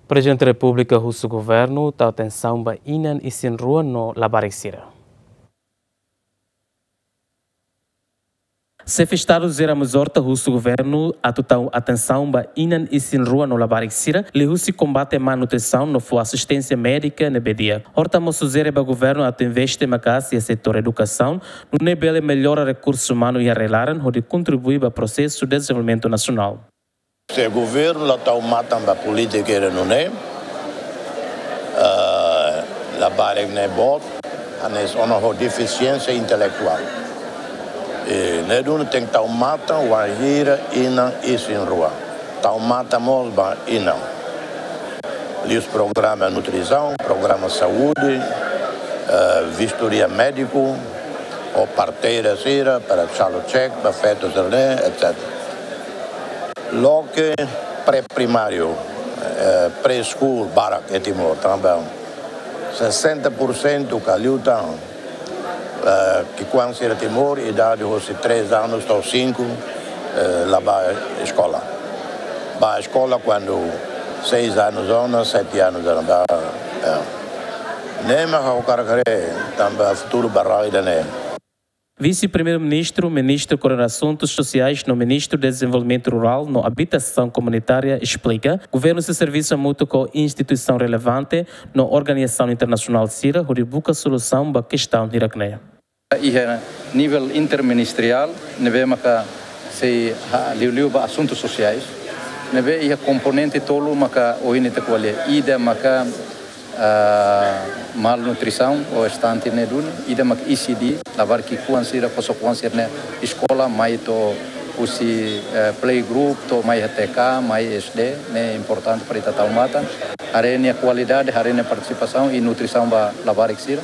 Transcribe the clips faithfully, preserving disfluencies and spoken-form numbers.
Prezidente Repúblika husu governu tau atensaun ba inan isin-rua no labarik sira. Xefe Estadu José Ramos Horta husu governu atu tau atensaun ba inan isin-rua no labarik sira, liuhusi kombate malnutrisaun no fó asisténsia médika ne'ebé di'ak. Horta mós sujere ba governu atu investe maka'as iha setór edukasaun, nune'e bele mellora rekursu umanu iha rai-laran hodi kontribui ba prosesu dezenvolvimentu nasionál. Se governu la tau matan ba polítika ida nune'e, eh, labarik ne'e boot, hanesan ona ho defisiénsia intelektuál. I ne'e duni tenke tau matan wainhira inan isin-rua. Tau matan mós ba inan. Liuhusi programa nutrisaun, programa saúde, eh, vistoria médiku, ho parteira sira, para calo check, ba feto sira-ne'e, etcétera. Loke pré-primáriu, eh, preschool barak iha Timor, tanba sessenta por cento ka liután, eh, ki'ikoan sira Timor, idade hosi três anos to'o cinco, eh, la bá eskola. Bá eskola kuandu seis anos ona, sete anos ona, bá, eh. Ne'e mak ha'u hakarak haree, tanba futuru ba rai ida-ne'e. Vise-Primeiru-Ministru, Ministru Koordena Asuntus Sosiais no Ministru Dezenvolvimentu Rurál no Abitasaun Komunitária esplika, governu sei servisu hamutuk ho instituisaun relevante no organizasaun internasionál sira hodi buka solusaun ba kestaun hirak-ne'e. Iha nivel interministeriál, ne'ebé maka sei ha-, liuliu ba asuntus sosiais, ne'ebé iha komponente tolu maka ohin ita ko'alia, ida maka ah, malnutrisaun ou stunting ne'e duni, ida mak E C D, labarik ki'ikoan sira, kosok-oan sira-ne'e eskola, mai to'o husi, eh, playgroup, to'o mai iha T K, mai S D, ne'e importante para ita tau matan. Haree nia kualidade, haree nia partisipasaun i nutrisaun ba labarik sira.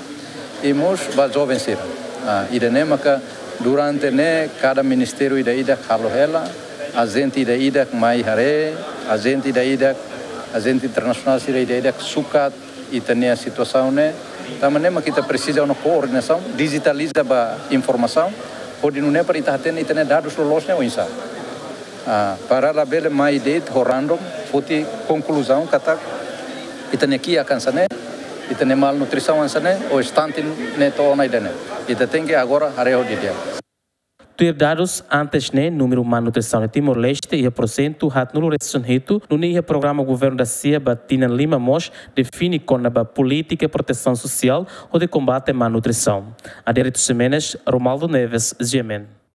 I mós ba joven sira. Ah, ida-ne'e maka durante ne'e kada ministériu ida-idak halo hela, ajente ida-idak mai haree, ajente ida-idak, ajente internasionál sira ida-idak sukat ita-nia situasaun ne'e, tanba ne'e mak ita presiza ona koordenasaun, dijitaliza ba informasaun, hodi nune'e para ita hatene ita-nia dadus loloos ne'e oinsá. Ah, para labele mai de'it ho random, foti konkluzaun katak ita-nia kiak hanesan ne'e, ita-nia malnutrisaun hanesan ne'e, ou stunting ne'e to'o ona ida-ne'e. Ita tenke agora haree ho didi'ak. Tuir dadus antes ne'e, númeru malnutrisaun iha Timor-Leste iha porsentu haatnulu resin hitu, nune'e iha programa governu dasia ba tinan lima mós define kona-ba polítika protesaun sosiál hodi kombate malnutrisaun. Adérito Ximenes, Romualdo Neves, G M N.